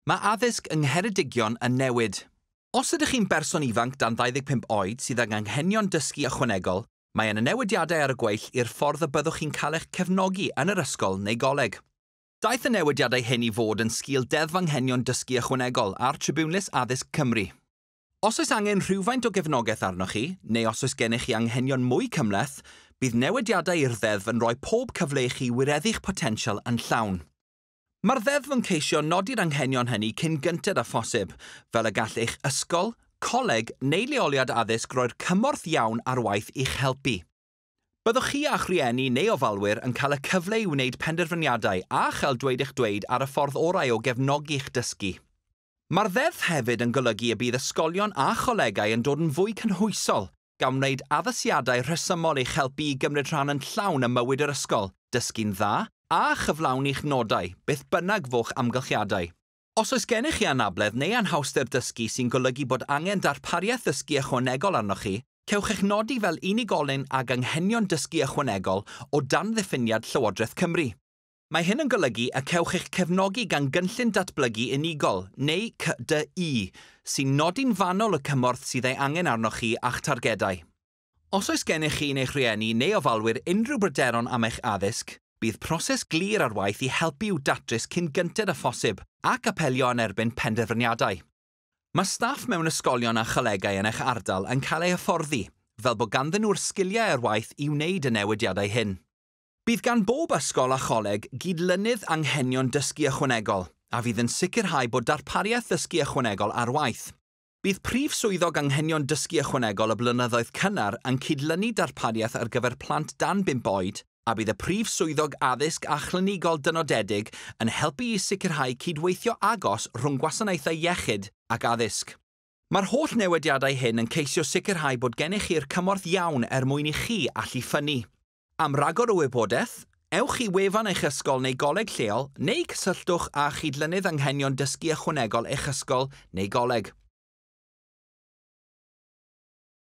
Mae addysg yng Ngheredigion yn newid. Os ydych chi'n berson ifanc dan 25 oed sydd ag anghenion dysgu ychwanegol, mae yna newidiadau ar y gweill i'r ffordd y byddwch chi'n cael eich cefnogi yn yr ysgol neu goleg. Daeth y newidiadau hyn i fod yn sgil Deddf Anghenion Dysgu Ychwanegol a'r Tribiwnlys Addysg Cymru. Os oes angen rhywfaint o gefnogaeth arnoch chi, neu os oes gennych chi anghenion mwy cymhleth, bydd newidiadau i'r ddeddf yn rhoi pob cyfle i chi wireddu'ch potensial yn llawn. Mae'r ddeddf yn ceisio nodi'r anghenion hynny cyn gynted â phosib, fel y gall eich ysgol, coleg neu leoliad addysg roi'r cymorth iawn ar waith i'ch helpu. Byddwch chi a'ch rhieni neu ofalwyr yn cael y cyfle i wneud penderfyniadau a chael dweud eich dweud ar y ffordd orau o gefnogi'ch dysgu. Mae'r ddeddf hefyd yn golygu y bydd ysgolion a cholegau yn dod yn fwy cynhwysol, gan wneud addasiadau rhesymol eich helpu i gymryd rhan yn llawn ym mywyd yr ysgol, dysgu'n dda, a chyflawni'ch nodau, beth bynnag fo'ch amgylchiadau. Os oes gennych chi anabledd neu anhawster dysgu sy'n golygu bod angen darpariaeth ddysgu ychwanegol arnoch chi, cewch eich nodi fel unigolyn ag anghenion dysgu ychwanegol o dan ddiffiniad Llywodraeth Cymru. Mae hyn yn golygu y cewch eich cefnogi gan Gynllun Datblygu Unigol, neu CDU, sy'n nodi'n fanwl y cymorth sydd ei angen arnoch chi a'ch targedau. Os oes gennych chi neu'ch rhieni neu ofalwyr unrhyw bryderon am eich addysg, bydd proses glir ar waith i helpu i'w datrys cyn gynted â phosib ac apelio yn erbyn penderfyniadau. Mae staff mewn ysgolion a cholegau yn eich ardal yn cael eu hyfforddi, fel bod ganddyn nhw'r sgiliau ar waith i wneud y newidiadau hyn. Bydd gan bob ysgol a choleg gydlynydd anghenion dysgu ychwanegol, a fydd yn sicrhau bod darpariaeth ddysgu ychwanegol ar waith. Bydd prif swyddog anghenion dysgu ychwanegol y blynyddoedd cynnar yn cydlynu darpariaeth ar gyfer plant dan 5 oed, a bydd y prif swyddog addysg a chlinigol dynodedig yn helpu i sicrhau cydweithio agos rhwng gwasanaethau iechyd ac addysg. Mae'r holl newidiadau hyn yn ceisio sicrhau bod gennych chi'r cymorth iawn er mwyn i chi allu ffynnu. Am ragor o wybodaeth, ewch i wefan eich ysgol neu goleg lleol neu cysylltwch â chydlynydd anghenion dysgu ychwanegol eich ysgol neu goleg.